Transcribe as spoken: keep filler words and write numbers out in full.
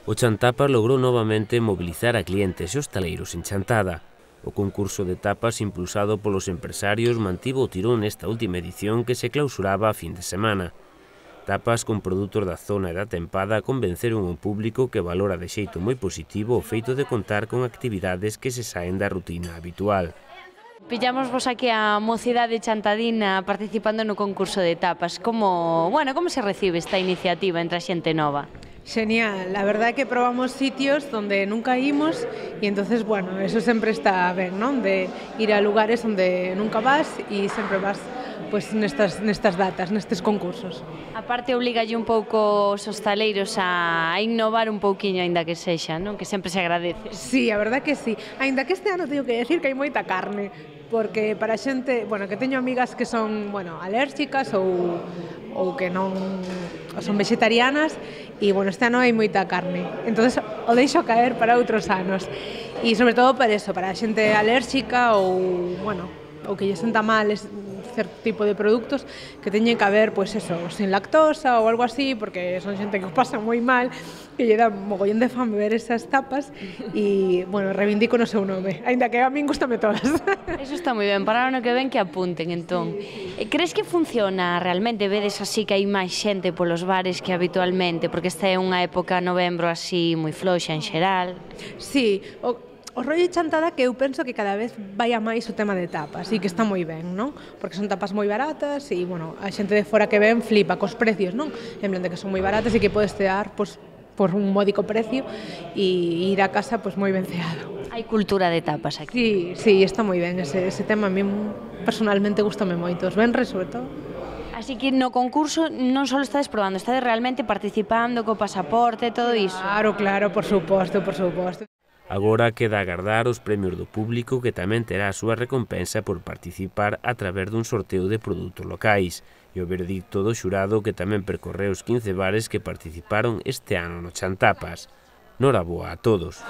O Chantapas logrou novamente mobilizar a clientes e hostaleiros en Chantada. O concurso de tapas impulsado polos empresarios mantivo o tirón nesta última edición que se clausuraba a fin de semana. Tapas con produtos da zona e da tempada convenceron o público que valora de xeito moi positivo o feito de contar con actividades que se saen da rutina habitual. Pillamos vos aquí a mocidade chantadina participando no concurso de tapas. Como, bueno, como se recibe esta iniciativa entre a xente nova? Genial, la verdad é que probamos sitios donde nunca imos e entonces, bueno, eso sempre está ben, non? De ir a lugares onde nunca vas e sempre vas pues, nestas, nestas datas, nestes concursos. A parte obligalle un pouco os hostaleiros a innovar un pouquiño, aínda que sexa, non? Que sempre se agradece. Sí, a verdad que sí. Aínda que este ano teño que decir que hai moita carne, porque para xente, bueno, que teño amigas que son, bueno, alérxicas ou ou que non son vegetarianas e, bueno, este ano hai moita carne. Entonces o deixo caer para outros anos. E sobre todo para eso, para a xente alérxica ou, bueno, ou que lle senta mal certo tipo de produtos que teñen que haber, pois eso, sin lactosa ou algo así, porque son xente que o pasa moi mal, que lle dá mogollón de fame ver esas tapas e, bueno, reivindico no seu nome, aínda que a min gustame todas. Eso está moi ben, para o ano que ven que apunten, entón. Crees que funciona realmente? Vedes así que hai máis xente polos bares que habitualmente, porque esta é unha época novembro así moi floxa en xeral. Sí, o O rollo de Chantada que eu penso que cada vez vai a máis o tema de tapas e que está moi ben, non? Porque son tapas moi baratas e, bueno, a xente de fora que ven flipa cos precios, non? En plan de que son moi baratas e que podes tear, pois, por un módico precio e ir a casa, pois, moi ben ceado. Hai cultura de tapas Sí, aquí. sí, está moi ben ese, ese tema, a mí personalmente gustame moito, os venres, sobre todo. Así que no concurso non só estades probando, estades realmente participando co pasaporte, todo iso. Claro, claro, por suposto, por suposto. Agora queda agardar os premios do público que tamén terá a súa recompensa por participar a través dun sorteo de produtos locais e o veredicto do xurado que tamén percorreu os quince bares que participaron este ano no Chantapas. Noraboa a todos.